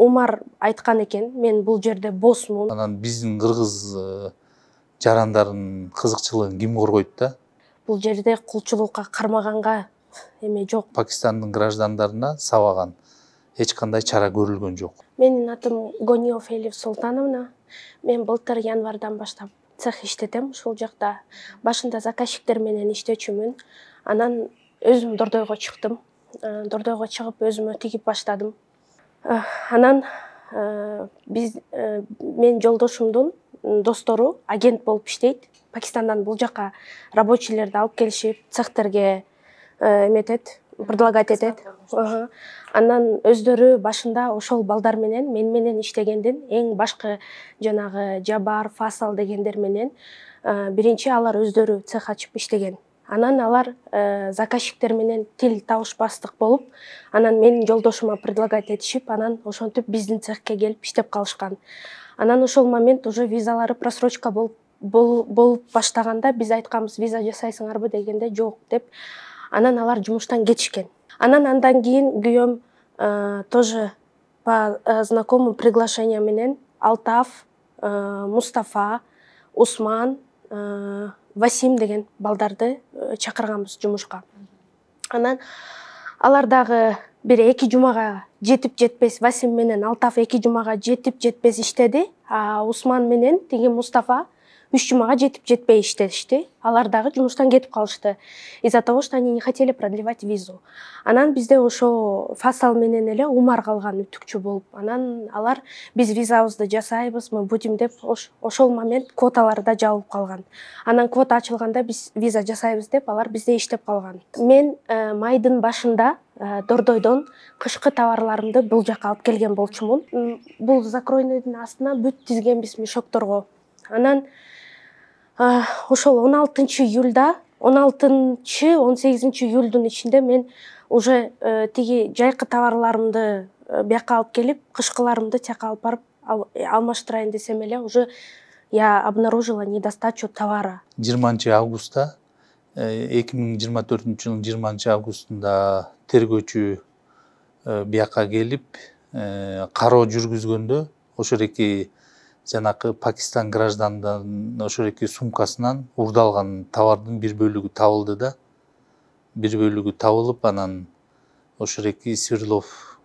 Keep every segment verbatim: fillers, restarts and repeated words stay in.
Умар айткан экен, мен бул жерде босмун. Анан биздин кыргыз жарандардын кызыкчылыгын ким коргойт да? Бул жерде кулчулукка кармаганга эме жок. Пакистандын граждандарына сабаган эч кандай чара көрүлгөн жок. Менин атым Гониев Элиф Султановна. Мен былтыр январдан баштап цех иштетем ушул жакта. Башында заказчиктер менен иштечүмүн. Анан өзүм Дордойго чыктым. Дордойго чыгып өзүмө тигип баштадым. Анан биз мен жолдошумдун достору агент болуп иштейт. Пакистандан бул жака рабочийлерди алып келишип, цехтерге эметет, предлагать этет. Анан өздөрү башында ошол балдар менен мен менен иштегендин эң башкы жанагы Жабар, Фасал дегендер менен биринчи алар өздөрү цех ачып иштеген. Анан алар заказчиктер менен тил табышпастык болуп, анан менин жолдошума предлагать этишип, анан ошентип биздин цехке келип иштеп калышкан. Анан ошол момент уже визалары просрочка болуп болуп баштаганда биз айтканбыз, виза жасайсыңарбы дегенде жок деп. Анан алар жумуштан кетишкен. Анан андан кийин күйөөм тоже по знакомым приглашения менен Алтаф, Мустафа, Усман, Васим деген балдарды чакырганбыз жумушка. Анан алар дагы бир эки жумага жетип жетпес, Васим менен Алтаф эки жумага жетип жетпес иштеди, а Усман менен тиги Мустафа үч жумага жетип жетпей иштешти. Алар дагы жумуштан кетип калышты. Из-за того, что они не хотели продлевать визу. Анан бизде ошо Фасал менен эле Умар калган үтүкчү болуп. Анан алар биз визабызды жасайбыз, мы будем деп ошол момент квоталары да жабылып калган. Анан квота ачылганда биз виза жасайбыз деп алар бизде иштеп калган. Мен майдын башында Дордойдон кышкы товарларымды бул жака алып келген болчумун. Бул закройныйдын астына бүт тизгенбиз мешокторго. Анан ошол он алтынчы июлда, он алтынчы он сегизинчи июлдун ичинде мен уже тиги жайкы товарларымды бияка алып келип, кышкыларымды тияка алып барып алмаштырайын десем эле, уже я обнаружила недостачу товара. жыйырманчы августта, эки миң жыйырма төртүнчү жылдын жыйырманчы августунда тергөөчү бияка келип, кароо жүргүзгөндө ошол эки жанакы Пакистан граждандарынын ошол эки сумкасынан уурдалган товардын бир бөлүгү табылды да. Бир бөлүгү табылып, анан ошол эки Свердлов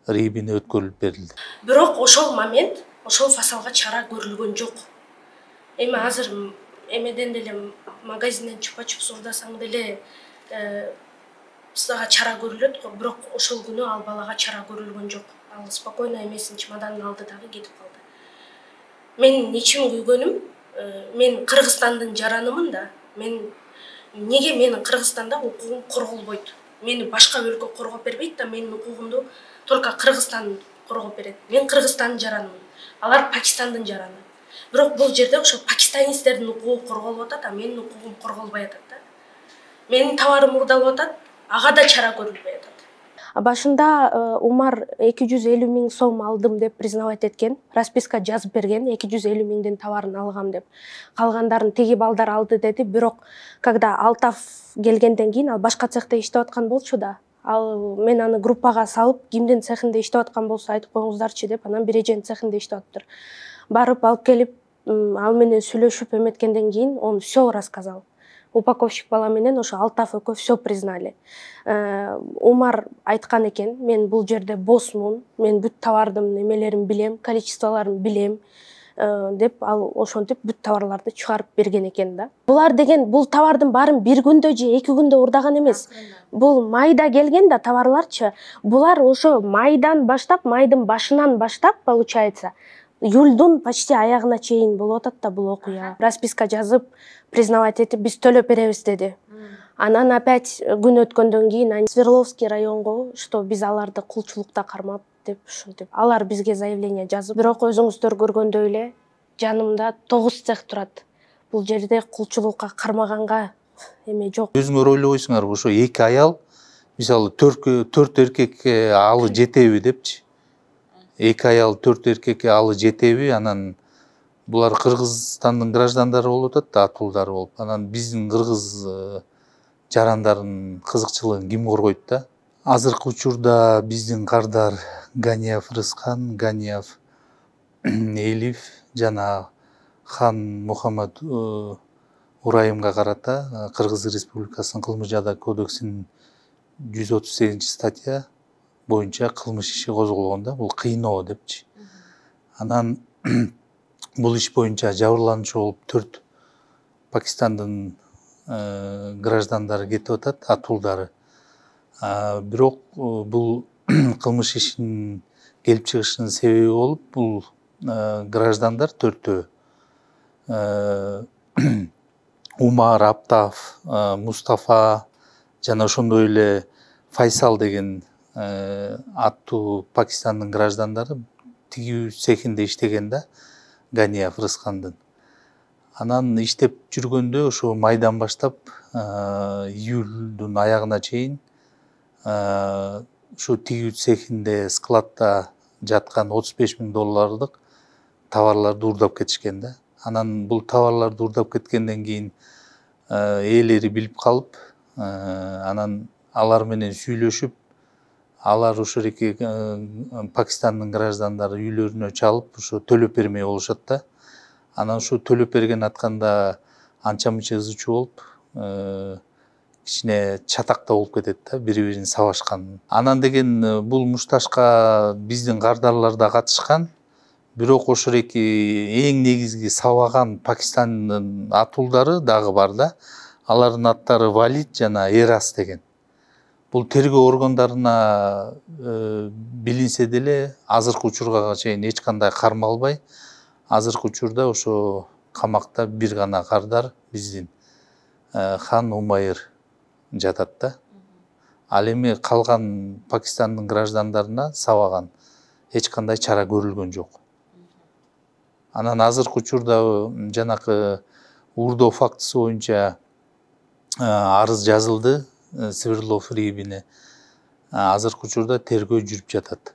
рейбине өткөрүлүп берилди. Бирок ошол момент ошол Фасалга чара көрүлгөн жок. Эми азыр эмеден деле магазинден чупа-чупс уурдасаң деле сага чара көрүлөт го, бирок ошол күнү ал балага чара көрүлгөн жок. Ал спокойно эмесин чемоданын алды дагы кетип калды. Мен ичим күйгөнүм, мен Кыргызстандын жаранымын да. Мен неге менин Кыргызстанда укугум корголбойт? Мени башка өлкө коргоп бербейт да, менин укугумду только Кыргызстан коргоп берет. Мен Кыргызстандын жаранымын. Алар Пакистандын жараны. Бирок бул жерде ошо пакистанецтердин укугу корголуп атат, а менин укугум корголбой атат да. Менин товарым уурдалып атат, ага да чара көрүлбөй атат. Башында Умар эки жүз элүү миң сом алдым деп признавать эткен, расписка жазып берген, эки жүз элүү миңдин товарын алгам деп. Калгандарын тиги балдар алды деди, бирок когда Алтаф келгенден кийин ал башка цехте иштеп аткан болчу да. Ал мен аны группага салып, кимдин цехинде иштеп аткан болсо айтып коюңуздарчы деп, анан Бирежен цехинде иштеп атыптыр. Барып алып келип, ал менен сүйлөшүп эметкенден кийин он всё рассказал. Упаковщик бала менен ошо Алтаф экөө всё признали. Умар айткан экен, мен бул жерде босмун, мен бүт товардын эмелерин билем, количестволорун билем деп ал ошентип бүт товарларды чыгарып берген экен да. Булар деген бул товардын баарын бир күндө же эки күндө уурдаган эмес. Бул майда келген да товарларчы. Булар ошо майдан баштап, майдын башынан баштап, получается, июлдун почти аягына чейин болуп атат да бул окуя. Расписка жазып, признавать этип, биз төлөп беребиз деди. Анан опять күн өткөндөн кийин Свердловский районго, что биз аларды кулчулукта кармап деп ушинтип. Алар бизге заявление жазып, бирок өзүңүздөр көргөндөй эле жанымда тогуз цех турат. Бул жерде кулчулукка кармаганга эме жок. Өзүңөр ойлобойсуңарбы, ошо эки аял, мисалы төрт эркекке алы жетеби депчи. Эки аял төрт эркекке алы жетеби, анан булар Кыргызстандын граждандары болуп атат да, атуулдары болуп. Анан биздин кыргыз жарандардын кызыкчылыгын ким коргойт да? Азыркы учурда биздин кардар Ганиев Рыскан, Ганиев Элиф жана хан Мухаммад Урайымга карата Кыргыз Республикасынын кылмыш жада кодексинин жүз отуз сегизинчи статья боюнча кылмыш иши козголгон да, бул кыйноо депчи. Анан бул иш боюнча жабырлануучу болуп төрт Пакистандын граждандары кетип атат, атуулдары. Бирок бул кылмыш ишинин келип чыгышынын себеби болуп, бул граждандар төртөө Умар, Аптаф, Мустафа жана ошондой эле Файсал деген аттуу Пакистандын граждандары тигүү цехинде иштеген да, Ганиев Рыскандын. Анан иштеп жүргөндө ошо майдан баштап июлдун аягына чейин ушу тигүү цехинде складда жаткан отуз беш миң доллардык товарларды уурдап кетишкен да. Анан бул товарларды уурдап кеткенден кийин ээлери билип калып, анан алар менен сүйлөшүп, алар ошол эки Пакистандын граждандары үйлөрүнө чалып, ошо төлөп бермей болушат да. Анан ошо төлөп берген атканда анча мынча ызы чуу болуп, кичине чатакта болуп кетет да, бири-бирин сабашкан. Анан деген бул мушташка биздин кардарлар да катышкан. Бирок ошол эки эң негизги сабаган Пакистандын атуулдары дагы бар да. Алардын аттары Валид жана Эрас деген. Бул тергөө органдарына билинсе деле азыркы учурга чейин эч кандай кармалбай, азыркы учурда ошо камакта бир гана кардар биздин хан Умайыр жатат да. Ал эми калган Пакистандын граждандарына сабаган эч кандай чара көрүлгөн жок. Анан азыркы учурда жанакы уурдоо фактысы боюнча арыз жазылды Свердлов рийибине. Азыркы учурда тергөө жүрүп жатат.